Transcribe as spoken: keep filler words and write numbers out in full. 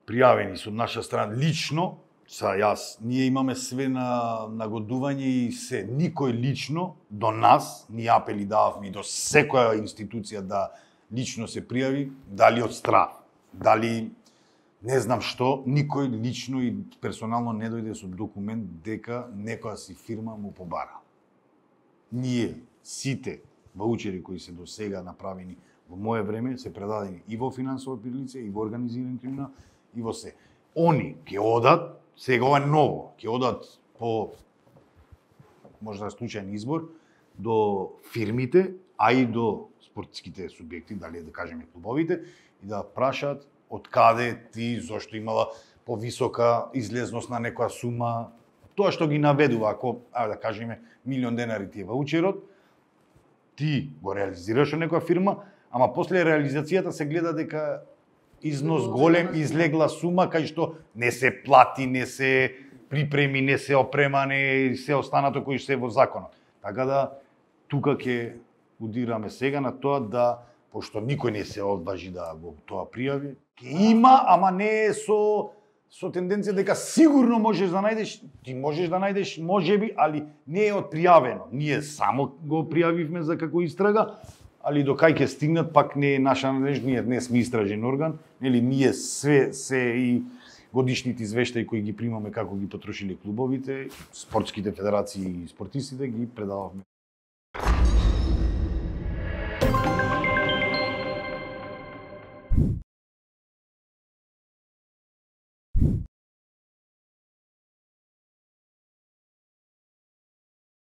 пријавени со наша страна лично, са јас, ние имаме све на нагодување и се, никој лично до нас, ни апели дававме и до секоја институција да лично се пријави, дали од страх, дали не знам што, никој лично и персонално не дојде со документ дека некоја си фирма му побара. Ние, сите ваучери кои се до сега направени во моје време, се предадени и во финансово лице, и во организиран криминал, и во се. Они ќе одат, сега ова е ново, ќе одат по можда случајен избор до фирмите, а и до спортските субјекти, дали да кажеме клубовите, и да прашаат од каде ти, зошто имала повисока излезност на некоја сума, тоа што ги наведува, ако, а да кажеме, милион денари ти е ваучерот, ти го реализираш од некоја фирма, ама после реализацијата се гледа дека износ голем, излегла сума, кај што не се плати, не се припреми, не се опремане, се останато кои се во законот. Така да, тука ќе удираме сега на тоа да, пошто никој не се одважи да го тоа пријави, ќе има, ама не е со со тенденција дека сигурно можеш да најдеш, ти можеш да најдеш, можеби, али не е отпријавено. Ние само го пријавивме за како истрага, али до кај ќе стигнат пак не е наша надежда, ние не сме истражен орган, нели ние све се и годишните извештаи кои ги примаме како ги потрошиле клубовите, спортските федерации и спортистите ги предававме.